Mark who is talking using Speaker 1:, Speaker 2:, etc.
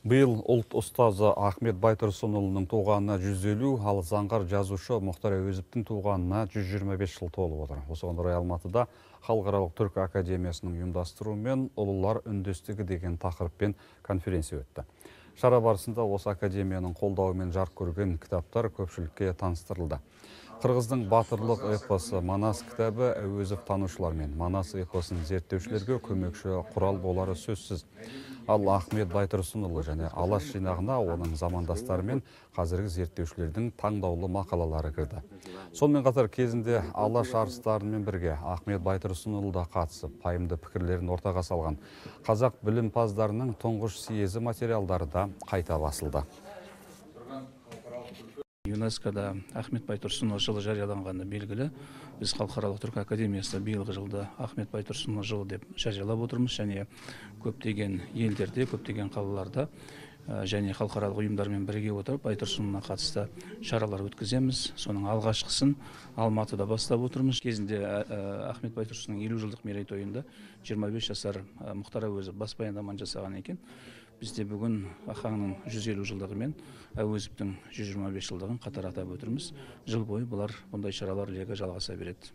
Speaker 1: Быйыл ұлт ұстазы Ахмет Байтұрсынұлының туғанына 150, ал заңғар жазушы Мұхтар Әуезовтің туғанына 125 жыл толып отыр. Осыған орай Алматыда Халықаралық түркі академиясының ұйымдастыруымен «Ұлылар үндестігі» деген тақырыппен конференция өтті. Шара барысында осы академияның қолдауымен жарық көрген кітаптар көпшілікке таныстырылды. Қырғыздың батырлық эпосы «Манас» кітабы Әуезов танушылар мен Манас эпосын зерттеушілерге көмекші құрал болары сөзсіз. Ал Ахмет Байтұрсынұлы және Алаш жинағына оның замандастары мен қазіргі зерттеушілердің таңдаулы мақалалары кірді. Сонымен қатар кезінде Алаш арыстарымен бірге Ахмет Байтұрсынұлы да қатысып, пайымды пікірлерін ортаға салған қазақ білімпаздарының тұңғыш съезі материалдары да қайта басылды.
Speaker 2: ЮНЕСКОда Ахмет Байтұрсынұлы жылы жарияланғаны белгілі. Біз Халықаралық түркі академиясында биылғы жылды Ахмет Байтұрсынұлы жылы деп жариялап отырмыз, және көптеген елдерде, көптеген қалаларда және халықаралық ұйымдармен бірге отырып Байтұрсынұлына қатысты шаралар өткіземіз. Соның алғашқысын Алматыда бастап отырмыз. Кезінде Ахмет Байтұрсынұлының 50 жылдық мерейтойында 25 жасар Мұхтар Әуезов бас баяндама жасаған екен. Бізде бүгін Ахаңның 150 жылдығы мен Әуезовтің 125 жылдығын қатар атап өтірміз. Жыл бойы бұндай шаралар легі жалғаса береді.